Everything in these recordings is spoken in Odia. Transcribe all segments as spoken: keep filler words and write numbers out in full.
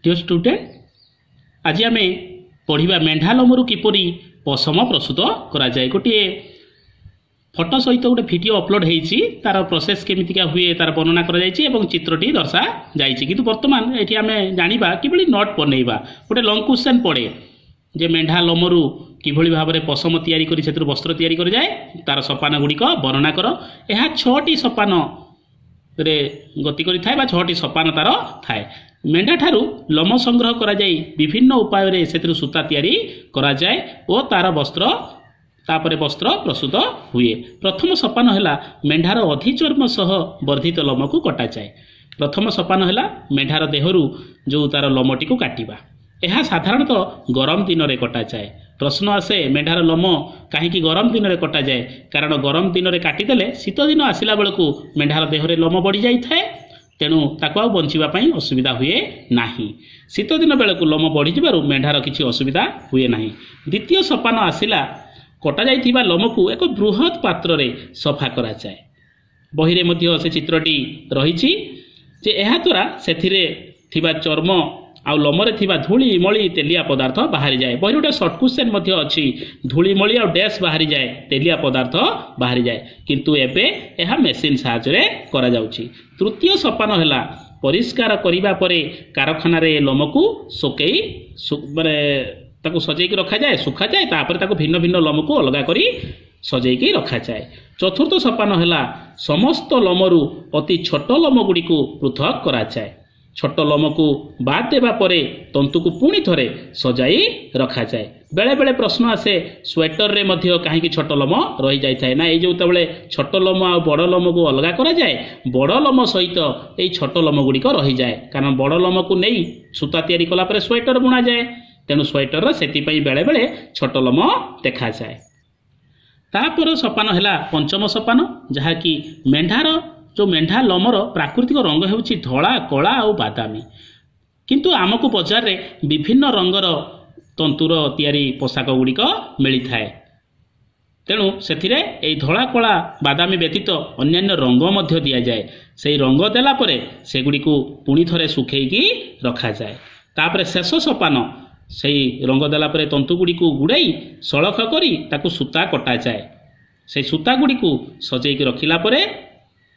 ଡିଅର୍ ଷ୍ଟୁଡେଣ୍ଟ ଆଜି ଆମେ ପଢ଼ିବା ମେଣ୍ଢା ଲୋମରୁ କିପରି ପଶମ ପ୍ରସ୍ତୁତ କରାଯାଏ ଗୋଟିଏ ଫଟୋ ସହିତ ଗୋଟେ ଭିଡ଼ିଓ ଅପଲୋଡ଼ ହେଇଛି ତାର ପ୍ରୋସେସ୍ କେମିତିକା ହୁଏ ତାର ବର୍ଣ୍ଣନା କରାଯାଇଛି ଏବଂ ଚିତ୍ରଟି ଦର୍ଶାଯାଇଛି କିନ୍ତୁ ବର୍ତ୍ତମାନ ଏଠି ଆମେ ଜାଣିବା କିଭଳି ନୋଟ୍ ବନେଇବା ଗୋଟେ ଲଙ୍ଗ କ୍ୱେଶ୍ଚନ୍ ପଡ଼େ ଯେ ମେଣ୍ଢା ଲୋମରୁ କିଭଳି ଭାବରେ ପଶମ ତିଆରି କରି ସେଥିରୁ ବସ୍ତ୍ର ତିଆରି କରାଯାଏ ତାର ସୋପାନ ଗୁଡ଼ିକ ବର୍ଣ୍ଣନା କର ଏହା ଛଅଟି ସୋପାନରେ ଗତି କରିଥାଏ ବା ଛଅଟି ସୋପାନ ତାର ଥାଏ ମେଣ୍ଢାଠାରୁ ଲୋମ ସଂଗ୍ରହ କରାଯାଇ ବିଭିନ୍ନ ଉପାୟରେ ସେଥିରୁ ସୂତା ତିଆରି କରାଯାଏ ଓ ତାର ବସ୍ତ୍ର ତାପରେ ବସ୍ତ୍ର ପ୍ରସ୍ତୁତ ହୁଏ ପ୍ରଥମ ସୋପାନ ହେଲା ମେଣ୍ଢାର ଅଧିଚର୍ମ ସହ ବର୍ଦ୍ଧିତ ଲୋମକୁ କଟାଯାଏ ପ୍ରଥମ ସୋପାନ ହେଲା ମେଣ୍ଢାର ଦେହରୁ ଯେଉଁ ତାର ଲୋମଟିକୁ କାଟିବା ଏହା ସାଧାରଣତଃ ଗରମ ଦିନରେ କଟାଯାଏ ପ୍ରଶ୍ନ ଆସେ ମେଣ୍ଢାର ଲୋମ କାହିଁକି ଗରମ ଦିନରେ କଟାଯାଏ କାରଣ ଗରମ ଦିନରେ କାଟିଦେଲେ ଶୀତ ଦିନ ଆସିଲା ବେଳକୁ ମେଣ୍ଢାର ଦେହରେ ଲୋମ ବଢ଼ିଯାଇଥାଏ ତେଣୁ ତାକୁ ଆଉ ବଞ୍ଚିବା ପାଇଁ ଅସୁବିଧା ହୁଏ ନାହିଁ ଶୀତ ଦିନ ବେଳକୁ ଲୋମ ବଢ଼ିଯିବାରୁ ମେଣ୍ଢାର କିଛି ଅସୁବିଧା ହୁଏ ନାହିଁ ଦ୍ୱିତୀୟ ସୋପାନ ଆସିଲା କଟାଯାଇଥିବା ଲୋମକୁ ଏକ ବୃହତ୍ ପାତ୍ରରେ ସଫା କରାଯାଏ ବହିରେ ମଧ୍ୟ ସେ ଚିତ୍ରଟି ରହିଛି ଯେ ଏହାଦ୍ୱାରା ସେଥିରେ ଥିବା ଚର୍ମ ଆଉ ଲୋମରେ ଥିବା ଧୂଳି ମଳି ତେଲିଆ ପଦାର୍ଥ ବାହାରିଯାଏ ବହିରେ ଗୋଟେ ସର୍ଟ କ୍ୱେଶ୍ଚନ୍ ମଧ୍ୟ ଅଛି ଧୂଳି ମଳି ଆଉ ଡ୍ୟାସ୍ ବାହାରିଯାଏ ତେଲିଆ ପଦାର୍ଥ ବାହାରିଯାଏ କିନ୍ତୁ ଏବେ ଏହା ମେସିନ୍ ସାହାଯ୍ୟରେ କରାଯାଉଛି ତୃତୀୟ ସୋପାନ ହେଲା ପରିଷ୍କାର କରିବା ପରେ କାରଖାନାରେ ଏ ଲୋମକୁ ଶୁକେଇ ମାନେ ତାକୁ ସଜେଇକି ରଖାଯାଏ ଶୁଖାଯାଏ ତାପରେ ତାକୁ ଭିନ୍ନ ଭିନ୍ନ ଲୋମକୁ ଅଲଗା କରି ସଜେଇକି ରଖାଯାଏ ଚତୁର୍ଥ ସୋପାନ ହେଲା ସମସ୍ତ ଲୋମରୁ ଅତି ଛୋଟ ଲୋମ ଗୁଡ଼ିକୁ ପୃଥକ କରାଯାଏ ଛୋଟ ଲୋମକୁ ବାଦ୍ ଦେବା ପରେ ତନ୍ତୁକୁ ପୁଣି ଥରେ ସଜାଇ ରଖାଯାଏ ବେଳେବେଳେ ପ୍ରଶ୍ନ ଆସେ ସ୍ୱେଟରରେ ମଧ୍ୟ କାହିଁକି ଛୋଟ ଲୋମ ରହିଯାଇଥାଏ ନା ଏଇ ଯେତେବେଳେ ଛୋଟ ଲୋମ ଆଉ ବଡ଼ ଲୋମକୁ ଅଲଗା କରାଯାଏ ବଡ଼ ଲୋମ ସହିତ ଏଇ ଛୋଟ ଲୋମ ଗୁଡ଼ିକ ରହିଯାଏ କାରଣ ବଡ଼ ଲୋମକୁ ନେଇ ସୂତା ତିଆରି କଲା ପରେ ସ୍ୱେଟର ବୁଣାଯାଏ ତେଣୁ ସ୍ୱେଟରର ସେଥିପାଇଁ ବେଳେବେଳେ ଛୋଟ ଲୋମ ଦେଖାଯାଏ ତାପର ସୋପାନ ହେଲା ପଞ୍ଚମ ସୋପାନ ଯାହାକି ମେଣ୍ଢାର ଯେଉଁ ମେଣ୍ଢା ଲୋମର ପ୍ରାକୃତିକ ରଙ୍ଗ ହେଉଛି ଧଳା କଳା ଆଉ ବାଦାମୀ କିନ୍ତୁ ଆମକୁ ବଜାରରେ ବିଭିନ୍ନ ରଙ୍ଗର ତନ୍ତୁର ତିଆରି ପୋଷାକ ଗୁଡ଼ିକ ମିଳିଥାଏ ତେଣୁ ସେଥିରେ ଏଇ ଧଳା କଳା ବାଦାମୀ ବ୍ୟତୀତ ଅନ୍ୟାନ୍ୟ ରଙ୍ଗ ମଧ୍ୟ ଦିଆଯାଏ ସେଇ ରଙ୍ଗ ଦେଲା ପରେ ସେଗୁଡ଼ିକୁ ପୁଣି ଥରେ ଶୁଖେଇକି ରଖାଯାଏ ତାପରେ ଶେଷ ସୋପାନ ସେଇ ରଙ୍ଗ ଦେଲା ପରେ ତନ୍ତୁ ଗୁଡ଼ିକୁ ଗୁଡ଼ାଇ ସଳଖ କରି ତାକୁ ସୂତା କଟାଯାଏ ସେଇ ସୂତା ଗୁଡ଼ିକୁ ସଜେଇକି ରଖିଲା ପରେ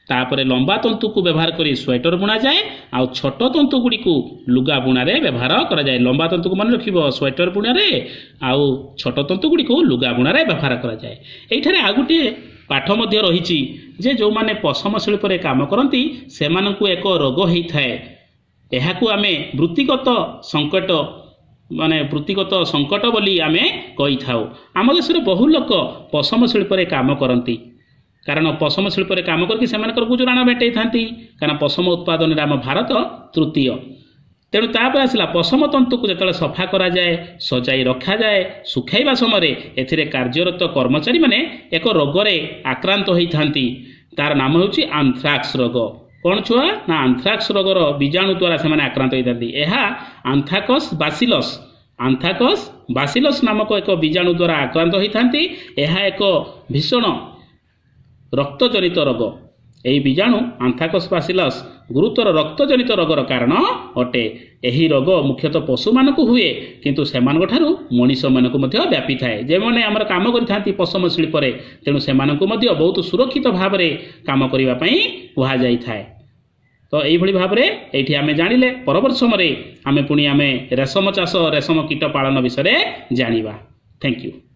ତାପରେ ଲମ୍ବା ତନ୍ତୁକୁ ବ୍ୟବହାର କରି ସ୍ୱେଟର ବୁଣାଯାଏ ଆଉ ଛୋଟ ତନ୍ତୁ ଗୁଡ଼ିକୁ ଲୁଗା ବୁଣାରେ ବ୍ୟବହାର କରାଯାଏ ଲମ୍ବା ତନ୍ତୁକୁ ମନେ ରଖିବ ସ୍ୱେଟର ବୁଣାରେ ଆଉ ଛୋଟ ତନ୍ତୁ ଗୁଡ଼ିକୁ ଲୁଗା ବୁଣାରେ ବ୍ୟବହାର କରାଯାଏ ଏଇଠାରେ ଆଉ ଗୋଟିଏ ପାଠ ମଧ୍ୟ ରହିଛି ଯେ ଯେଉଁମାନେ ପଶମ ଶିଳ୍ପରେ କାମ କରନ୍ତି ସେମାନଙ୍କୁ ଏକ ରୋଗ ହେଇଥାଏ ଏହାକୁ ଆମେ ବୃତ୍ତିଗତ ସଙ୍କଟ ମାନେ ବୃତ୍ତିଗତ ସଙ୍କଟ ବୋଲି ଆମେ କହିଥାଉ ଆମ ଦେଶରେ ବହୁ ଲୋକ ପଶମ ଶିଳ୍ପରେ କାମ କରନ୍ତି କାରଣ ପଶମ ଶିଳ୍ପରେ କାମ କରିକି ସେମାନଙ୍କର ଗୁଜୁରାଣ ମେଣ୍ଟେଇଥାନ୍ତି କାରଣ ପଶମ ଉତ୍ପାଦନରେ ଆମ ଭାରତ ତୃତୀୟ ତେଣୁ ତାପରେ ଆସିଲା ପଶମ ତନ୍ତୁକୁ ଯେତେବେଳେ ସଫା କରାଯାଏ ସଜାଇ ରଖାଯାଏ ଶୁଖାଇବା ସମୟରେ ଏଥିରେ କାର୍ଯ୍ୟରତ କର୍ମଚାରୀମାନେ ଏକ ରୋଗରେ ଆକ୍ରାନ୍ତ ହୋଇଥାନ୍ତି ତାର ନାମ ହେଉଛି ଆନ୍ଥ୍ରାକ୍ସ ରୋଗ କ'ଣ ଛୁଆ ନା ଆନ୍ଥ୍ରାକ୍ସ ରୋଗର ବୀଜାଣୁ ଦ୍ୱାରା ସେମାନେ ଆକ୍ରାନ୍ତ ହୋଇଥାନ୍ତି ଏହା ଆନ୍ଥ୍ରାକସ୍ ବାସିଲସ୍ ଆନ୍ଥ୍ରାକସ୍ ବାସିଲସ୍ ନାମକ ଏକ ବୀଜାଣୁ ଦ୍ୱାରା ଆକ୍ରାନ୍ତ ହୋଇଥାନ୍ତି ଏହା ଏକ ଭୀଷଣ ରକ୍ତଜନିତ ରୋଗ ଏହି ବୀଜାଣୁ ଆନ୍ଥ୍ରାକସ୍ ବାସିଲସ୍ ଗୁରୁତର ରକ୍ତଜନିତ ରୋଗର କାରଣ ଅଟେ ଏହି ରୋଗ ମୁଖ୍ୟତଃ ପଶୁମାନଙ୍କୁ ହୁଏ କିନ୍ତୁ ସେମାନଙ୍କ ଠାରୁ ମଣିଷମାନଙ୍କୁ ମଧ୍ୟ ବ୍ୟାପିଥାଏ ଯେଉଁମାନେ ଆମର କାମ କରିଥାନ୍ତି ପଶମ ଶିଳ୍ପରେ ତେଣୁ ସେମାନଙ୍କୁ ମଧ୍ୟ ବହୁତ ସୁରକ୍ଷିତ ଭାବରେ କାମ କରିବା ପାଇଁ କୁହାଯାଇଥାଏ ତ ଏଇଭଳି ଭାବରେ ଏଇଠି ଆମେ ଜାଣିଲେ ପରବର୍ତ୍ତୀ ସମୟରେ ଆମେ ପୁଣି ଆମେ ରେଶମ ଚାଷ ରେଶମ କୀଟ ପାଳନ ବିଷୟରେ ଜାଣିବା thank you